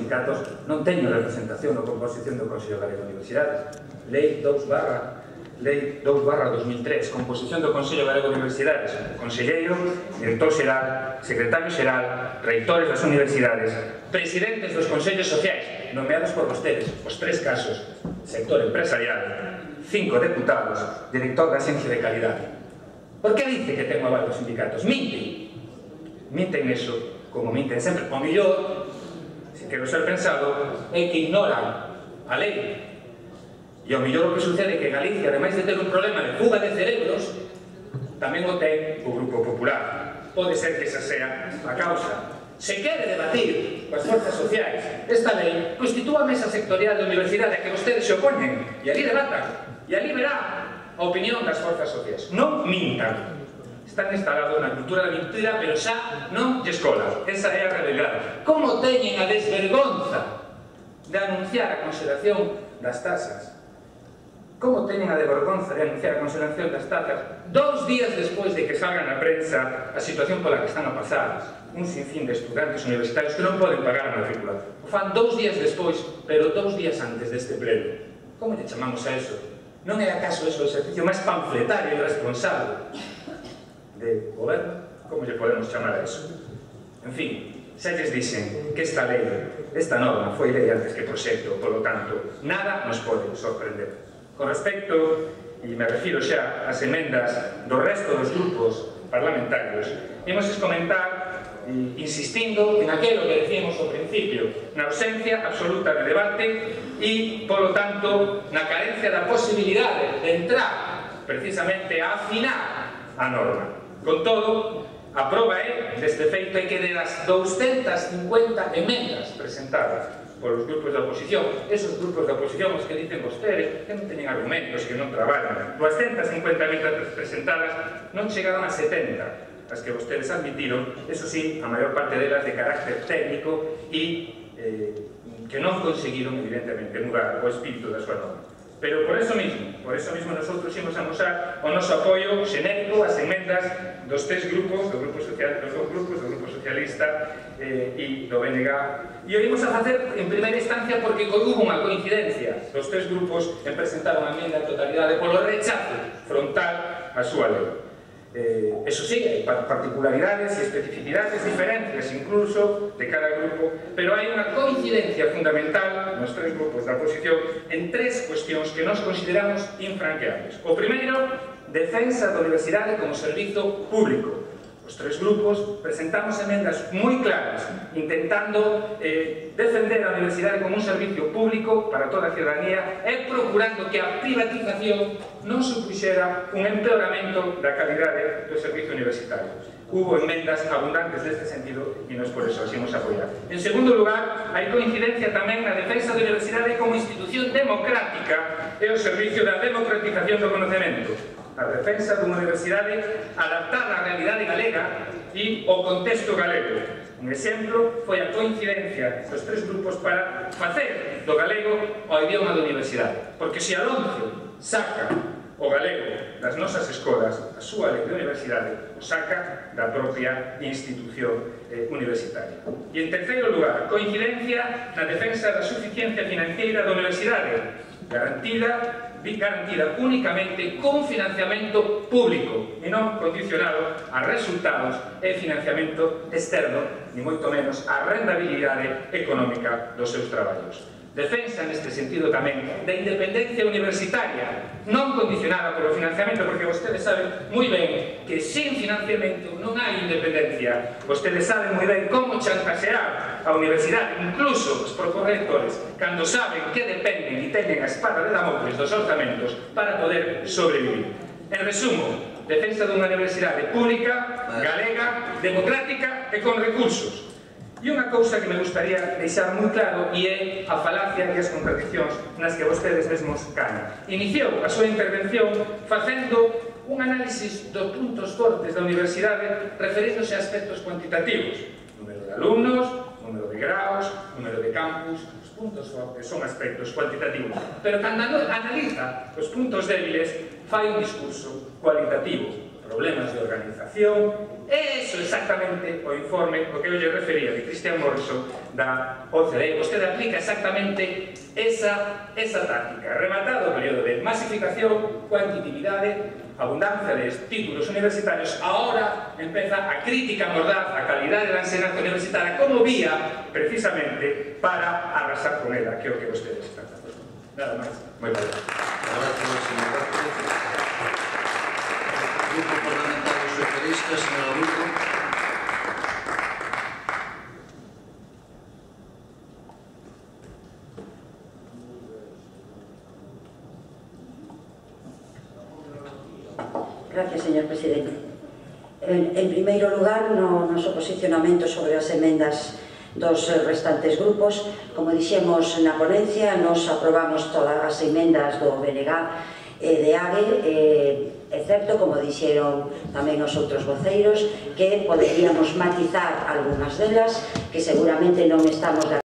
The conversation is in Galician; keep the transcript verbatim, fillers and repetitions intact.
sindicatos non teñen representación na composición do Consello Galego de Universidades. Lei dous barra dos mil tres, composición do Consello Galego de Universidades, conselleiro, director xeral, secretario xeral, reitores das universidades, presidentes dos consellos sociais, nomeados por vostedes, os tres casos, sector empresarial, cinco deputados, director da Axencia de Calidade. Por que dice que ten o aval dos sindicatos? Minten. Minten eso, como minten sempre. O mellor, se quero ser pensado, é que ignoran a lei. E o mellor o que sucede é que Galicia, ademais de ter un problema de fuga de cerebros, tamén o ten o Grupo Popular. Pode ser que esa sea a causa. Se quere debatir coas forzas sociais esta lei, constitúa a mesa sectorial da universidade a que vostedes se opoñen, e ali debatan, e ali verá a opinión das forzas sociais. Non mintan. Están instalados na cultura da mentira, pero xa non lle escola. Esa é a realidade. Como teñen a desvergonza de anunciar a consideración das tasas? Como teñen a desvergonza de anunciar a consideración das tasas dous días despois de que salgan na prensa a situación pola que están a pasar un sinfín de estudantes universitarios que non poden pagar a matrícula? O fan dous días despois, pero dous días antes deste pleno. Como lle chamamos a eso? Non é acaso eso o exercicio máis panfletario e irresponsable de goberno? Como lle podemos chamar a eso? En fin, xa lles dixen que esta lei, esta norma, foi lei antes que proxecto, polo tanto, nada nos pode sorprender. Con respecto, e me refiro xa ás emendas do resto dos grupos parlamentarios, imos comentar, insistindo en aquilo que decíamos ao principio, na ausencia absoluta de debate e, polo tanto, na carencia da posibilidade de entrar precisamente a afinar a norma. Con todo, a proba é deste feito é que de das douscentas cincuenta emendas presentadas polos grupos da oposición, esos grupos da oposición os que dicen vostedes que non teñen argumentos, que non traballan, douscentas cincuenta emendas presentadas non chegaron a setenta, as que vostedes admitiron, eso sí, a maior parte delas de carácter técnico e que non conseguiron, evidentemente, mudar o espírito da súa norma. Pero por eso mismo, por eso mismo nosotros imos amosar o noso apoio xenérico ás emendas dos tres grupos, do grupo social, dos dous grupos, do grupo socialista eh, e do B N G. E o imos a facer en primeira instancia porque hubo unha coincidencia dos tres grupos en presentar unha emenda en totalidade polo rechazo frontal á súa lei. Eh, eso sí, hai particularidades e especificidades, diferencias incluso de cada grupo, pero hai unha coincidencia fundamental nos tres grupos da oposición en tres cuestións que nos consideramos infranqueables. O primeiro, defensa da universidade como servizo público. Os tres grupos presentamos emendas moi claras, intentando eh, defender a universidade como un servicio público para toda a ciudadanía e procurando que a privatización non supuxera un empeoramento da calidade do servicio universitario. Hubo emendas abundantes neste sentido e nós por eso as imos apoiar. En segundo lugar, hai coincidencia tamén na defensa da universidade como institución democrática e o servicio da democratización do conocemento. A defensa dunha universidade adaptada á realidade galega e ao contexto galego. Un exemplo foi a coincidencia dos tres grupos para facer do galego o idioma da universidade. Porque se a LOMCE saca o galego das nosas escolas, a súa lei de universidade o saca da propia institución eh, universitaria. E en terceiro lugar, coincidencia na defensa da suficiencia financiera da universidade, garantida garantida únicamente con financiamento público e non condicionado a resultados e financiamento externo, ni moito menos a rendabilidade económica dos seus traballos. Defensa neste sentido tamén da independencia universitaria, non condicionada polo financiamento, porque vostedes saben moi ben que sin financiamento non hai independencia. Vostedes saben moi ben como chantaxear a universidade, incluso os propios rectores, cando saben que dependen e teñen a espada de Damocles dos orzamentos para poder sobrevivir. En resumo, defensa dunha universidade pública, galega, democrática e con recursos. E unha cousa que me gustaría deixar moi claro e é a falacia e as contradiccións nas que vostedes mesmos caen. Iniciou a súa intervención facendo un análisis dos puntos fortes da universidade referíndose a aspectos cuantitativos. Número de alumnos, número de graus, número de campus. Os puntos fortes son aspectos cuantitativos. Pero cando analiza os puntos débiles, fai un discurso cualitativo. problemas de organización, e iso exactamente o informe o que eu lle refería de Christian Morrison da O C D E. Vostede aplica exactamente esa, esa táctica. Rematado o período de masificación, cuantitatividade, abundancia de títulos universitarios, ahora empeza a crítica mordaz a calidade da enseñanza universitaria como vía, precisamente, para arrasar con ela, que é o que vostedes están facendo. Nada máis. Moi ben. Gracias, señor Vázquez. Grupo Parlamentario Socialista, señor Aburto. Gracias, señor presidente. En, en primeiro lugar, no noso posicionamento sobre as emendas dos restantes grupos, como dixemos na ponencia, nos aprobamos todas as emendas do B N G e de A G E, é certo, como dixeron tamén os outros voceiros, que poderíamos matizar algunhas delas, que seguramente non estamos de